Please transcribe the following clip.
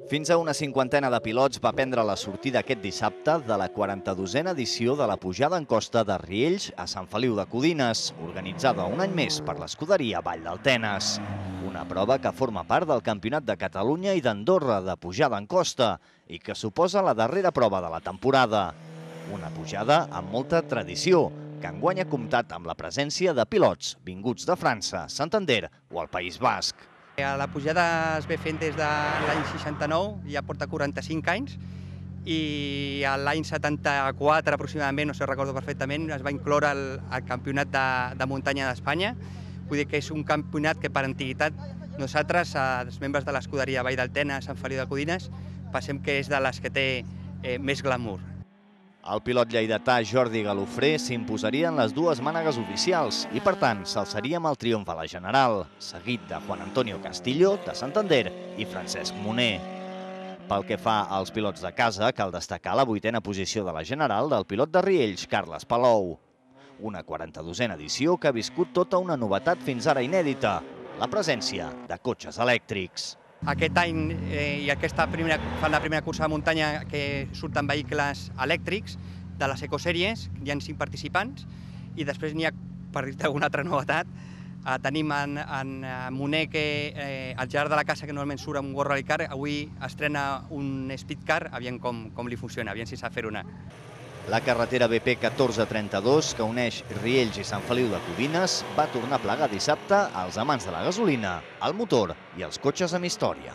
Fins a una cinquantena de pilots va prendre la sortida aquest dissabte de la 42a edició de la pujada en costa de Riells a Sant Feliu de Codines, organitzada un any més per l'escuderia Vall del Tenes. Una prova que forma part del Campionat de Catalunya i d'Andorra de pujada en costa i que suposa la darrera prova de la temporada. Una pujada amb molta tradició, que enguany ha comptat amb la presència de pilots vinguts de França, Santander o el País Basc. La pujada es ve fent des de l'any 69, ja porta 45 anys, i l'any 74 aproximadament, no sé, recordo perfectament, es va incloure el Campionat de Muntanya d'Espanya. Vull dir que és un campionat que per antiguitat nosaltres, els membres de l'escuderia Vall del Tenes, Sant Feliu de Codines, pensem que és de les que té més glamour. El pilot lleidatà Jordi Galofré s'imposaria en les dues mànegues oficials i, per tant, s'alçaria amb el triomf a la general, seguit de Juan Antonio Castillo, de Santander, i Francesc Moner. Pel que fa als pilots de casa, cal destacar la 8a posició de la general del pilot de Riells, Carles Palou. Una 42a edició que ha viscut tota una novetat fins ara inèdita, la presència de cotxes elèctrics. Aquest any i fan la primera cursa de muntanya que surten vehicles elèctrics de les ecosèries, hi ha 5 participants, i després n'hi ha, per dir-te alguna altra novetat, tenim en Moner, que al llarg de la casa, que normalment surt amb un World Rally Car, avui estrena un Speed Car, aviam com li funciona, aviam si sap fer una. La carretera BP 1432, que uneix Riells i Sant Feliu de Codines, va tornar a plegar dissabte als amants de la gasolina, el motor i els cotxes amb història.